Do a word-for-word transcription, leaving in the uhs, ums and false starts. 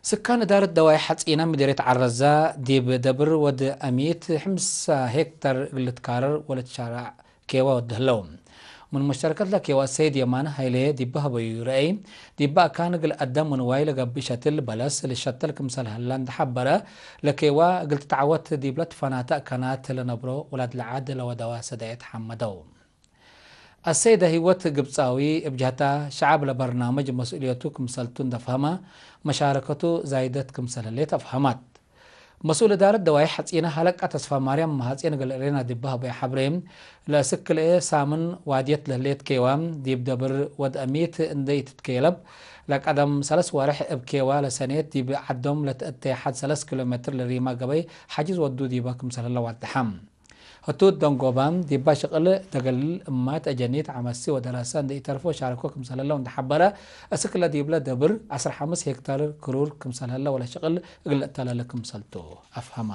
ስካን እዳረት ደዋይ ሐጺነ ምዴርየት ዐረዛ ዲብ ደብር ወድ አሚት ሐምሳ ሄክታር እግል ልትካረር ወለትሻራዕ ኬዋ ወድ ህለው። ምን ሙሽተረከት ለኬዋ ሰይድ የማነ ሀይሌ ዲበ ሀበዩ ረአይ፣ ዲበ አካን እግል አዳም ወንዋይ ለገብእ ሸትል በለስ ልሸተል ክምሰል ሀላ እንደ ሐበረ፣ ለኬዋ እግል ትትዐወት ዲብለ ትፈናተ አካናት ለነብሮ ውላድ ለዓድ ለወደዋ ሰዳየት ሐመደው። አሰይደ ህይወት ግብጻዊ እብ ጀህታ፣ ሸዐብ ለበርናምጅ መስኡልየቱ ክምሰልቱ እንደ ፈህመ፣ መሻረከቱ ዛይደት ክምሰል ህሌት አፍሀማት። መስኡል እዳረት ደዋይ ሐጺነ ሀለቃ ተስፋማርያም መሃጼን እግል ሬና ዲበ ሀበየ ሐብሬ፣ ለእስክ ክልኤ ሳምን ዋድየት ለህሌት ኬዋ፣ ዲብ ደብር ወድ አሚት እንደ ኢትትኬለብ፣ ለቀደም ሰለስ ወሬሕ እብ ኬዋ ለሰኔት ዲብ ዐዶም ለትአቴ ሐድ ሰለስ ኪሎ ሜትር ለሪማ ገበይ ሐጅዝ ወዱ ዲበ ክምሰል ህለ ዋደሐ። ህቱ ደንጎባም ዲባ ሽቅል ደገልል እማት አጀኒት ዐመሲ ወደራሰ እንደ ኢተርፎ ሻርኮ ክምሰለለው እንደ ሐበረ፣ እስክ ለዲብለ ደብር ዐስር ሐምስ ሄክታር ክሩር ክምሰለለ ወለ ሽቅል እግል ለእተለለ ክምሰልቱ አፍሀማ።